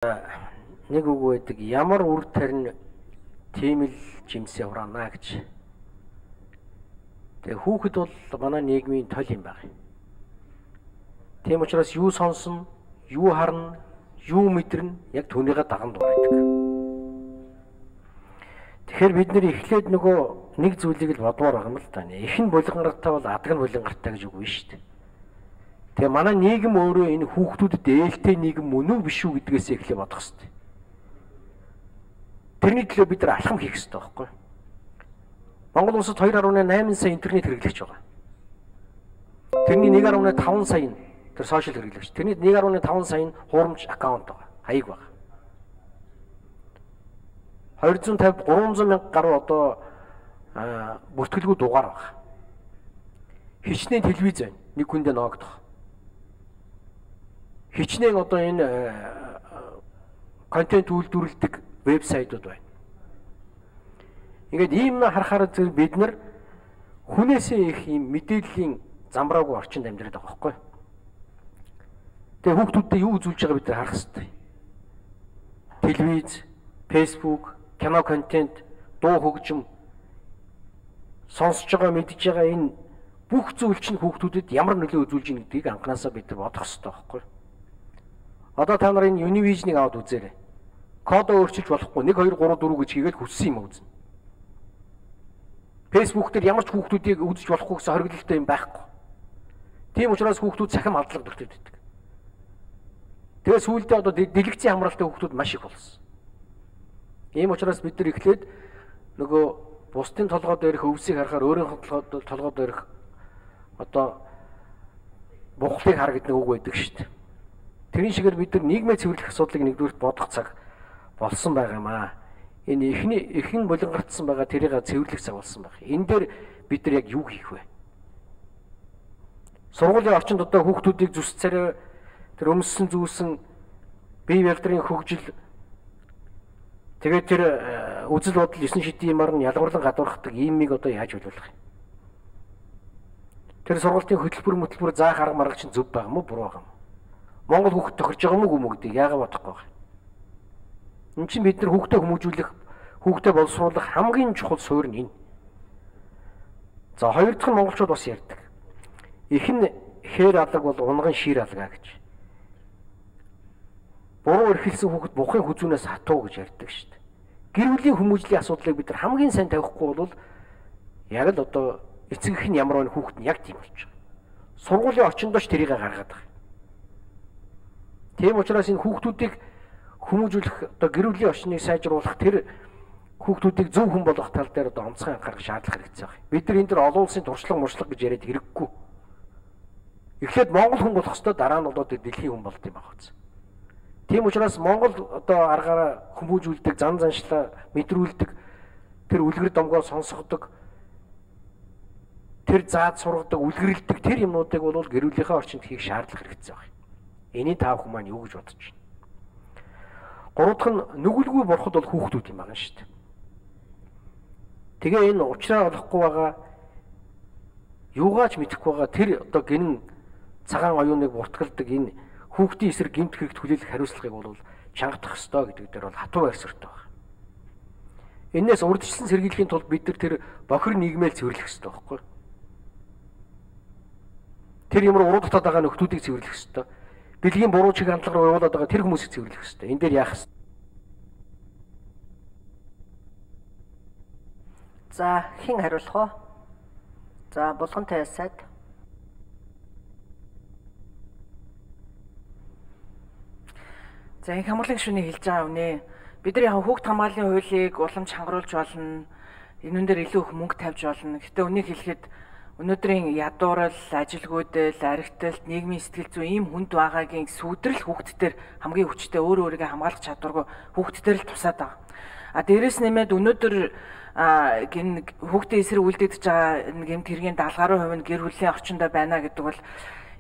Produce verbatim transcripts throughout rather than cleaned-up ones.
Нэг үг байдаг, ямар үр тарин тийм л жимсээ хураана гэж. Тэгээ хүүхэд бол манай нийгмийн тол юм байна. Тийм учраас юу сонсон, юу харна, юу мэдэрнэ яг түүнийгээ даган дурайдаг. Тэгэхээр бид нэр эхлээд нөгөө нэг зүйлийг л бодмоор байгаа юм л да. Эхэн булгангартай бол адаг нь булгангартай гэж үг биш шүү дээ. Тэгээ манай нийгэм өөрөө энэ хүүхдүүдэд ээлтэй нийгэм мөн үү биш үү гэдгээс эхлээ бодох хэрэгтэй. Тэрний төлөө бид нар алхам хийх хэрэгтэй байхгүй юу? Монгол улсад two point eight сая интернет хэрэглэгч байгаа. Тэрний one point five сая нь тэр сошиал хэрэглэгч. Тэрний one point five сая нь хуурамч аккаунт байгаа. Хаяг байгаа. two hundred fifty three hundred мянга гаруй одоо бүртгэлгүй дугаар байгаа. Хичнээн телевиз байна. Нэг хүндээ ноогдох. Хичнээн одоо энэ контент үйлдвэрлэдэг вебсайтууд байна. Ингээд ийм на харахаар зэрэг бид нар хүнээсээ их ийм мэдээллийн замбраагүй орчинд амьдраад байгаа байхгүй. Тэгээ хүүхдүүдтэй юу үзүүлж байгаа бид нар харах хэрэгтэй. Телевиз, фэйсбүүк, кино контент, дуу хөгжим сонсож байгаа мэдж байгаа энэ бүх зүйл чинь хүүхдүүдэд ямар нөлөө үзүүлж ийн гэдгийг анханасаа бид нар бодох хэрэгтэй байхгүй. Одоо та нар энэ Univision-ыг аваад үзээрэй. Кодоо өөрчилж болохгүй one two three four гэж хийгээл хүссэн юм үзнэ. Facebook дээр ямар ч хүүхдүүдийг үзэж болохгүй гэсэн хориглолтой юм байхгүй. Тийм учраас хүүхдүүд цахим алдлага төртөд байдаг. Тэгээ сүүлдээ одоо дэлгэцийн хамралтай хүүхдүүд маш их болсон. Ийм учраас бид нар эхлээд нөгөө бусдын толгой дээрх өвсийг харахаар өөрийнхөө толгой дээрх одоо бухлыг хар гэдэг үг байдаг шүү дээ. Тэрийн шигээр бид нар нийгмээ цэвэрлэх асуудлыг нэгдүгээр бодох цаг болсон байгаа юм аа. Энэ эхний эхэн булангартсан байгаа тэрийг цэвэрлэх цаг болсон байна. Энэ дээр бид нар яг юу хийх вэ? Сургуулийн орчинд одоо хүүхдүүдийг зүс царай тэр өмссөн зүүсэн бие бэлтрийн хөгжил тэгээд тэр үзэл бодол нine шидиймар нь ялгарлан гадуурхдаг иймийг одоо яаж боловлох юм? Тэр сургуулийн хөтөлбөр хөтөлбөр заах арга марга чинь зөв байгаа мó буруу байгаа юм? Монгол хүүхд тохирж байгаа мó гүм гэдэг яагаад бодохгүй байна? Энд чинь бид нар хүүхдээ хүмүүжүүлэх, хүүхдээ боловсруулах хамгийн чухал суурь нь энэ. За хоёр дахь нь монголчууд бас ярьдаг. Эхэн хээр алга бол унган шир алга гэж. Буруу эрхэлсэн хүүхэд бухын хүзүүнээс хатуу гэж ярьдаг шүү дээ. Гэр бүлийн хүмүүжлийн асуудлыг бид нар хамгийн сайн тавихгүй бол яг л одоо эцэг их нь ямар нэг хүүхэд нь яг тийм болж байгаа. Сургуулийн орчиндооч тэрийг гаргаад байгаа. Тийм учраас энэ хүүхдүүдийг хүмүүжүүлэх одоо гэр бүлийн орчныг сайжруулах тэр хүүхдүүдийг зөв хүн болгох тал дээр одоо онцгой анхаарах шаардлага хэрэгтэй байна. Бид нар энэ төр олон улсын туршлага муршлага гэж яриад хэрэггүй. Эхлээд Монгол хүн болох ёстой, дараа нь одоо дэлхийн хүн болт юм байна үз. Тийм учраас Монгол одоо аргаараа хүмүүжүүлдэг, зан заншлаа мэдрүүлдэг, тэр үлгэр домгоо сонсгодог, тэр заад сургадаг, үлгэрлдэг тэр юмнуудыг бол гэр бүлийнхээ орчинд хийх шаардлага хэрэгтэй байна. Эний таав хүмүүс маань юу гэж бодож байна? Гурав дахь нь нүгэлгүй бурхад бол хүүхдүүд юм байна шүү дээ. Тэгээ энэ уучраа олохгүй байгаа юугаач мэдэхгүй байгаа тэр одоо гинэн цагаан оюуныг буртгалдаг энэ хүүхдийн эсрэг гэмт хэрэгт хүлээлгэх хариуцлагыг бол чангадах ёстой гэдэг дээр бол хатуу байрсартай байна. Энээс урьдчилан сэргийлэхийн тулд бид нар тэр бохир нийгмээр цэвэрлэх ёстой байхгүй юу? Тэр юмруу уруу татаад байгаа нөхдүүдийг цэвэрлэх ёстой. Бэлгийн буруу чиг хандлага руу явуулаад байгаа тэр хүмүүсийг цэвэрлэх ёстой. Энэ дээр яах вэ? За, хэн хариулах вэ? За, Булгантай сайд. За, энэ хамгааллын гишүүний хэлж байгаа үнэ. Бид нар яг хүүхд хамгааллын хуулийг уламж хангаруулж болно. Энэ дээр илүү их мөнгө тавьж болно. Гэтэ үнийг хэлэхэд өнөөдрийн ядуурал, ажилгүйдэл, аригталт, нийгмийн сэтгэл зүйн ийм хүнд байгаагийн сүудрэл хүүхдтэр хамгийн хүчтэй өөрөө өөрийгөө хамгаалах чадваргүй хүүхдтэр л тусаад байгаа. А дээрэс нэмээд өнөөдөр гин хүүхдийн эсрэг үлдэгдэж байгаа гэмт хэргийн даалгаврын хувь нь гэр бүлийн орчиндөө байна гэдэг бол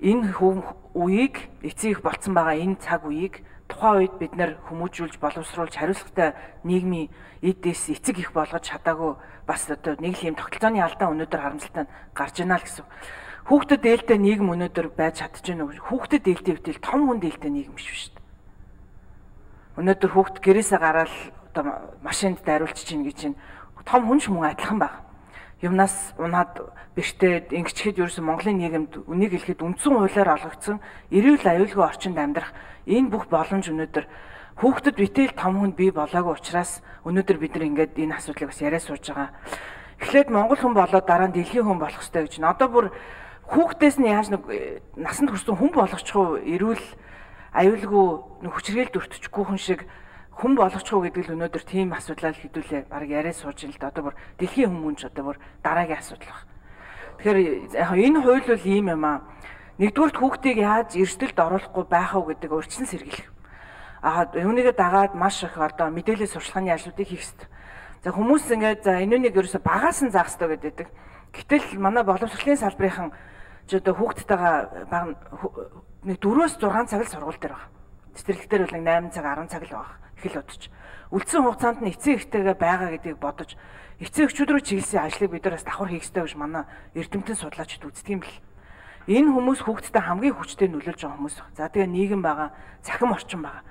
энэ үеийг эцэг их болцсон байгаа энэ цаг үеийг тухайн үед бид нэр хүмүүжүүлж боловсруулж хариуцлагатай нийгмийн эдээс эцэг их болгож чадаагүй бас одоо нэг л юм тогтолцооны алдаа өнөөдөр харамсалтай гарч ийна л гэсэн. Хүүхдэд ээлтэй нийгэм өнөөдөр байж чадчихна уу? Хүүхдэд ээлтэй битэл том хүн ээлтэй нийгэм биш шүү дээ. Өнөөдөр хүүхд гэрээсээ гараад одоо машинд дайруулж чинь гэж чинь том хүн ч мөн адилхан байна. Юмнаас унаад бэртээд ингэчихэд ерөөсөн Монголын нийгэмд үнийг хэлэхэд үндсэн хуулиар олгогдсон эрүүл аюулгүй орчинд амьдрах энэ бүх боломж өнөөдөр хүүхдэд битэл том хүнд бий болоогүй учраас өнөөдөр бид нар ингээд энэ асуудлыг бас яриа сууж байгаа. Эхлээд Монгол хүн болоод дараа нь дэлхийн хүн болох хэрэгтэй гэж. Одоо бүр хүүхдээс нь яаж нэг насанд хүрсэн хүн болгочихгүй эрүүл аюулгүй нэг хүчрхийлд өртчихгүй хүн шиг хүн болгочихгүй гэдэг л өнөөдөр тийм асуудлаа хэдүүлээ баг яриа сууж ин л да. Одоо бүр дэлхийн хүмүүнч одоо бүр дараагийн асуудал баг. Тэгэхээр яг энэ хууль бол ийм юм аа. Нэгдүгürt хүүхдийг яаж эрсдэлд оруулахгүй байх уу гэдэг урьдчилан сэргийлэх. Аа үүнийгээ дагаад маш их одоо мэдээлэл сурчлагын ажлуудыг хийх хэрэгтэй. За хүмүүс ингээд за энүүнийг ерөөсө багаас нь заах хэрэгтэй гэдэг. Гэтэл манай боловсролын салбарынхан ч одоо хүүхдтэйгээ баг нэг дөрвөөс зургаан цаг л сургууль дээр байгаа. Цэцэрлэгтэр бол найман цаг арван цаг л байгаа. Их л бодож. Үлдсэн хугацаанд нь эцэг эхтэйгээ байгаа гэдгийг бодож эцэг эхчүүд рүү чиглэсэн ажлыг бид нар бас давхар хийх ёстой гэж манай эрдэмтэн судлаачид үздэг юм бэл. Энэ хүмүүс хүүхдтэй хамгийн хүчтэй нөлөөлж байгаа хүмүүс. За тэгээ нийгэм байгаа, цахим орчин байгаа.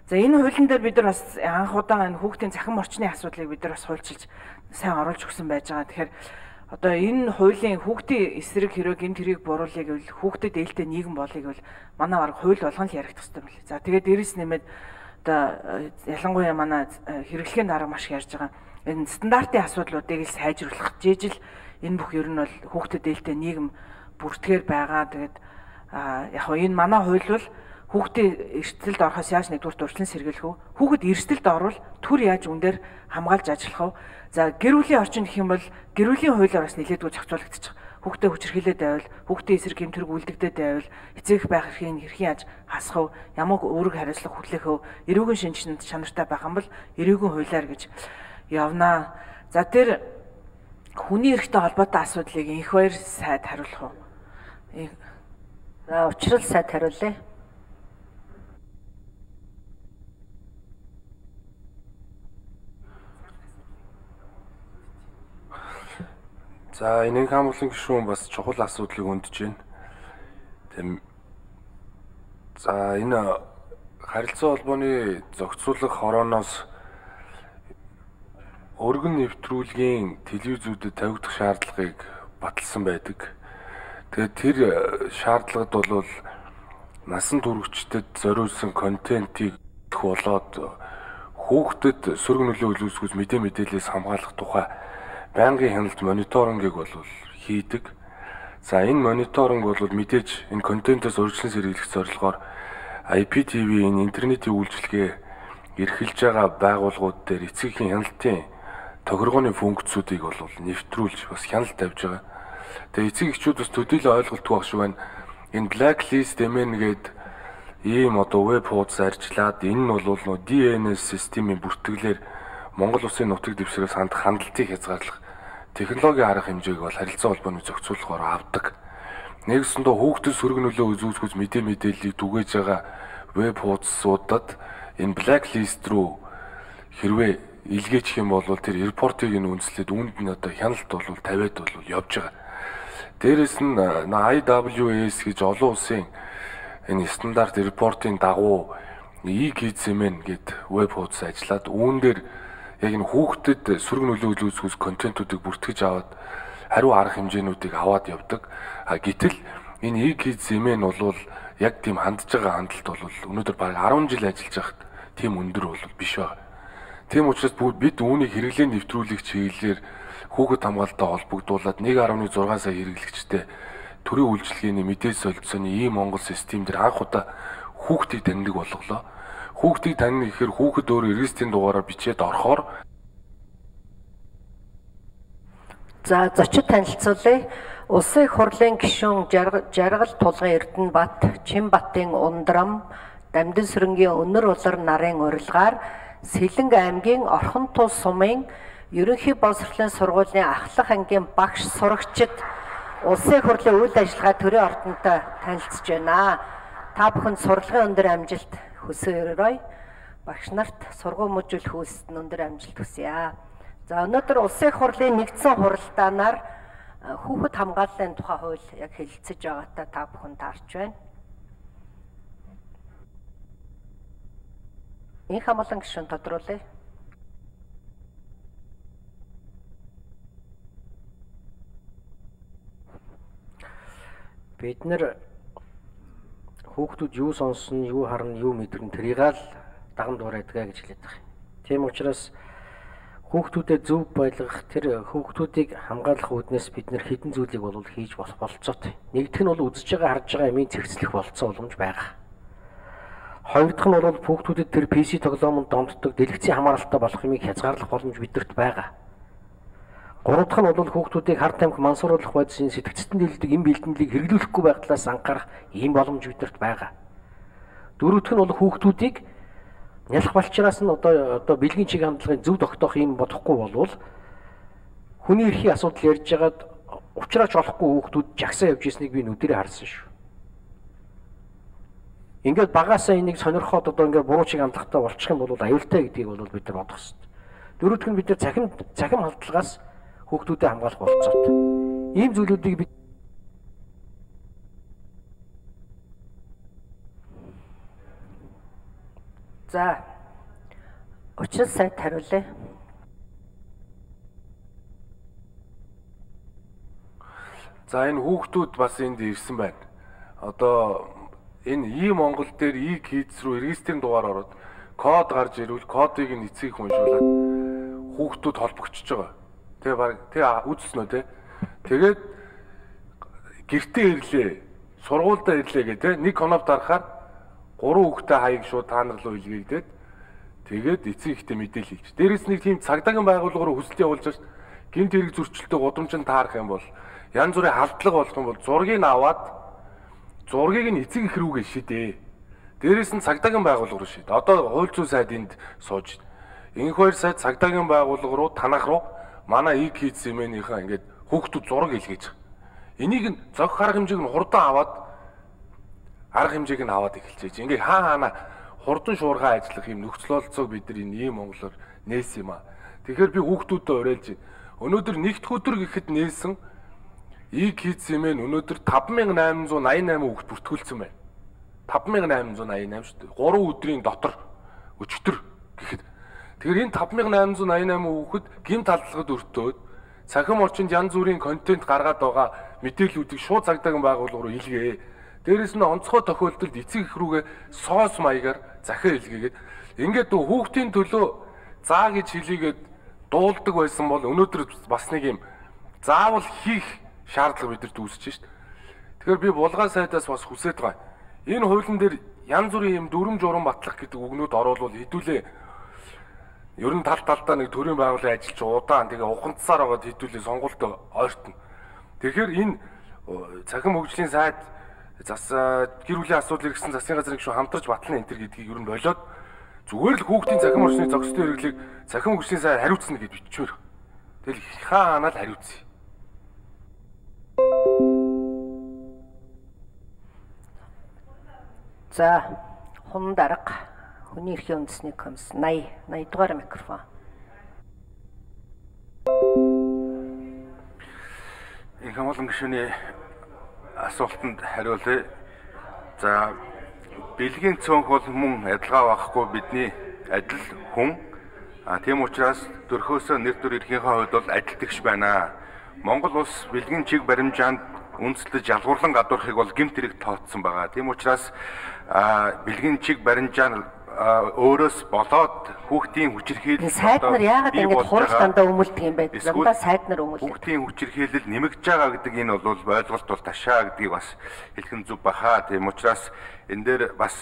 За энэ хуулийн дээр бид нар бас анх удаа энэ хүүхдийн цахим орчны асуудлыг бид нар бас хуульчилж сайн оруулж өгсөн байж байгаа. Тэгэхээр одоо энэ хуулийн хүүхдийн эсрэг хэрэг гэмт хэрэг буруулыг гэвэл хүүхдэд ээлтэй нийгэм болыг бол манай баг хууль болгон л яригдах хэрэгтэй мэл. За тэгээд дээрэс нэмээд одоо ялангуяа манай хэрэглэхийн дарга маш ярьж байгаа. Энэ стандартын асуудлуудыг л сайжруулах жижил энэ бүх ер нь бол хүүхдэд ээлтэй нийгэм бүртгэр байгаа. Тэгээд яг хоо энэ манай хууль бол хүүхдийн эрсдэлд орохоос яаж нэгдүгээр урьдчилан сэргийлэх вэ? Хүүхэд эрсдэлд орвол түр яаж үн дээр хамгаалж ажиллах вэ? За гэр бүлийн орчин гэх юм бол гэр бүлийн хуулиар бас нэлээдгүй зохицуулагдчих. Хүүхдээ хүчирхийлээд байвал, хүүхдийн эсрэг гэмтэрэг үлдэгдээд байвал эцэг байх эрхийн хэрхэн яаж хасах вэ? Ямар үүрэг хариуцлага хүлээх вэ? Эрүүгийн шинжлэх чанартай байх юм бол эрүүгийн хуулиар гэж явнаа. За тэр хүний эрхтэй холбоотой асуудлыг инх баяр сайд хариулах уу? За учрал сайд хариулъя. За энэ хамгааллын гишүүн бас чухал асуудлыг өндөж байна. Тэм за энэ харилцаа холбооны зохицуулах хорооноос өргөн нэвтрүүлгийн телевизүүдэд тавигдах шаардлагыг баталсан байдаг. Тэгээд тэр шаардлагад бол насан туршидад зориулсан контентийг болоод хүүхдэд сөрөг нөлөө үзүүлсгүйс мэдээ мэдээлэлээс хамгаалах тухай байнгын хяналт мониторингийг бол хийдэг. За энэ мониторинг бол мэдээж энэ контентоос урьдчилан сэргийлэх зорилгоор ай пи ти ви энэ интернетийн үйлчилгээ эрхэлж байгаа байгууллагууд дээр эцгийн хяналтын тохиргооны функцүүдийг бол нэвтрүүлж бас хяналт тавьж байгаа. Тэгээ эцэг эхчүүд бас төдийлөн ойлголтгүй байх шиг байна. Энэ blacklist эмэн гээд ийм одоо веб хуудас арчлаад энэ нь бол нөө ди эн эс системийн бүртгэлээр Монгол улсын нутаг дэвсгэрээс хандах хандлтыг хязгаарлах технологийн арга хэмжээг бол харилцаа холбооны зохицуулахаар авдаг. Нэгсэндээ хүүхдэд сөрөг нөлөө үзүүлсгүйс мэдээ мэдээллийг түгээж байгаа веб хуудасуудад энэ blacklist руу хэрвээ илгээчих юм бол тэр репортыг нь үндэслээд үүнд нь одоо хяналт бол тавиад бол явж байгаа. Дээрээс нь ай дабл ю эс гэж олон улсын энэ стандарт репортын дагуу e-kids-мэн гэд веб хуудас ажиллаад үүн дээр яг энэ хүүхдэд сөрөг нөлөө үзүүлсгүйс контентуудыг бүртгэж аваад хариу арга хэмжээнүүдийг аваад явдаг. А гэтэл энэ e-kids-мэн бол яг тийм хандж байгаа хандлт бол өнөөдөр бараг арван жил ажиллаж байхад тийм өндөр бол биш байна. Тийм учраас бид үүнийг хэрэглээ нэвтрүүлэх чиглэлээр хүүхэд хамгаалалттай холбогдуулаад нэг гаруй зургаан сая хэрэглэгчтэй төрийн үйлчилгээний мэдээ солилцооны ийм Монгол систем дээр анх удаа хүүхдийг таньдаг болголоо. Хүүхдийг таних гэхээр хүүхэд өөрөө регистрийн дугаараар бичээд орохоор за зочид танилцуулъя. Улсын их хурлын гишүүн Жаргал Тулгын Эрдэнэбат, Чинбатын Ундрам, Дамдын сүрэнгийн Өнөр улар нарын урилгаар Сэлэнг аймгийн Орхон тул сумын ерөнхий боловсролын сургуулийн ахлах ангийн багш сурагчид улсын их хурлын үйл ажиллагаа төрийн ордонтой танилцж байна. Та бүхэнд сурлагын өндөр амжилт хүсээрэй. Багш нарт сургууль мужуулах үйлсэд өндөр амжилт хүсье. За өнөөдөр улсын их хурлын нэгдсэн хуралдаанаар хүүхэд хамгааллын тухай хууль яг хэлэлцэж байгаатай та бүхэн таарч байна. Инх амгалан гишүүн тодруулъя. Бид нэр хүүхдүүд юу сонсон, юу харна, юу мэдэрнэ тэрийг л даган дуурайдгаа гэж хэлээд байгаа юм. Тийм учраас хүүхдүүдэд зөв байлгах, тэр хүүхдүүдийг хамгаалах үүднээс бид нэр хэдэн зүйлийг бол хийж болох болцоотой. Нэгдүгээр нь бол үзэж байгаа, харж байгаа юмыг цэгцлэх болцоо боломж байгаа. Хоёр дахь нь бол хүүхдүүдэд тэр пи си тоглоомонд домтдог дэлгэцийн хамааралтай болох юмыг хязгаарлах боломж бидэрт байгаа. Гурав дахь нь бол хүүхдүүдийг хар тамхи мансууруулах байдлын сэтгцэстэн дийлдэг эм бэлтгэлийг хэрэглүүлэхгүй байх талаас анхаарах ийм боломж бидэрт байгаа. Дөрөв дахь нь бол хүүхдүүдийг нялх балчраас нь одоо одоо бэлгийн чиг хандлагын зөв тогтоох юм бодохгүй болвол хүний эрхийн асуудал ярьж байгаад уучраач олохгүй хүүхдүүд жагсаа явж ирснийг би нүдэрээ харсан шүү. Ингээд багаасаа энийг сонирхоод одоо ингээд буруу чиг хандлагатай болчих юм бол аюултай гэдгийг бол бид нар бодох хэрэгтэй. Дөрөв дахь нь бид нар цахим цахим халдлагаас хүүхдүүдэд хамгаалах болцоотой. Ийм зүйлүүдийг бид За учир сайд хариулъя. За энэ хүүхдүүд бас энд ирсэн байна. Одоо энэ И Монгол дээр И Kids руу регистрийн дугаар ороод код гарч ирвэл кодыг нь эцгийг уншуулад хүүхдүүд холбогдчихж байгаа. Тэгээ баг тэгээ үзсэн үү те. Тэгээд гэртээ ирлээ. Сургуультай ирлээ гэдэг нэг конов дарахаар гурван хүүхдээ хаяг шууд та нар руу илгээгдээд тэгээд эцэг ихтэй мэдээлэл хийчих. Дээрээс нэг тийм цагдаагийн байгууллага руу хүсэлт явуулж байгаа. Гэмт хэрэг зөрчилтэй гудамжинд таарах юм бол янз бүрийн халдлага болох юм бол зургийг аваад зургийг нь эцэг их рүүгээ шидээ. Дээрээс нь цагдаагийн байгууллага руу шид. Одоо хууль зүйн сайд энд сууж. Энх хоёр сайд цагдаагийн байгууллага руу танах руу манай И Kids эмээнийхээ ингээд хүүхдүүд зураг илгээж байгаа. Энийг нь зохих арга хэмжээг нь хурдан аваад арга хэмжээг нь аваад эхэлчихэж. Ингээ хаа хаана хурдан шуурхай ажиллах юм нөхцөл олцоог бид нар энэ ийм Монголоор нээсэн юм аа. Тэгэхээр би хүүхдүүдэд уриалж байна. Өнөөдөр нэгд өдөр гэхэд нээсэн И Kids эмээн өнөөдөр таван мянган найман зуун аян найман хүүхд бүртгүүлсэн байна. таван мянган найман зуун аян найман шүү дээ. гурван өдрийн дотор өчтөр гэхэд тэгэхээр энэ таван мянган найман зуун аян найман хүүхэд гэмт халдлагад өртөөд цахим орчинд янз бүрийн контент гаргаад байгаа мэдээллүүдийг шууд цагдаагийн байгууллага руу илгээе. Дээрээс нь онцгой тохиолдолд эцэг их рүүгээ соос маягаар захиа илгээгээд ингээд хүүхдийн төлөө заа гэж хэлийгээд дуулдаг байсан бол өнөөдөр бас нэг юм заавал хийх шаардлага бидэрт үүсэж шít. Тэгэхээр би булган сайдаас бас хүсэж байгаа. Энэ хуулийн дээр янз бүрийн юм дүрм журам батлах гэдэг үгнүүд оруулвал хэдүүлээ ер нь тал талдаа нэг төрийн байгууллагын ажилч удаан тэгээ ухамдсаар байгаад хэдүүлээ сонголт ойртно. Тэгэхээр энэ цахим хөгжлийн сайд зас гэр бүлийн асуудал иргэсэн засгийн газрын гишүүн хамтарч батлана энэ төр гэдгийг ер нь болоод зүгээр л хүүхдийн цахим орчны зохистой хэрэглийг цахим хөгжлийн сайд хариуцна гэж бичвэр. Тэгэл хаанаа л хариуцъя. За хун дарга хүний эрхийн үндэсний комисс восемьдесят восемьдесят дугаар микрофон. Инх амгалан гишүүний асуултанд хариулъя. За бэлгийн цөөнх бол мөн адилгаа байхгүй бидний адил хүн. А тийм учраас төрхөөсөө нэр төр эрхийнхээ хувьд бол адилтгч байна. Монгол улс бэлгийн чиг баримжаанд үндэслэж ялгуурлан гадуурхыг бол гэмт хэрэг тооцсон байгаа. Тийм учраас бэлгийн чиг баримжаан өөрөөс болоод хүүхдийн хүчирхийлэл сайд нар яагаад ингэж хурал дандаа өмөлдөг юм бэ? Дандаа сайд нар өмөлдөг. Хүүхдийн хүчирхийлэл нэмэгдэж байгаа гэдэг энэ бол ойлголт бол ташаа гэдгийг бас хэлхэн зүг баха. Тийм учраас энэ дээр бас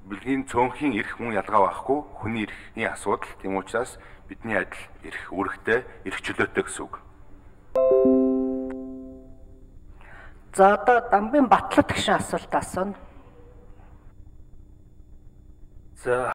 бэлгийн цөөнхийн эрх мөн ялгаа байхгүй хүний эрхийн асуудал. Тийм учраас бидний адил эрх үүрэгтэй, эрх чөлөөтэй гэсэн үг. За одоо Дамбын Батлат гişin асуулт асууна. За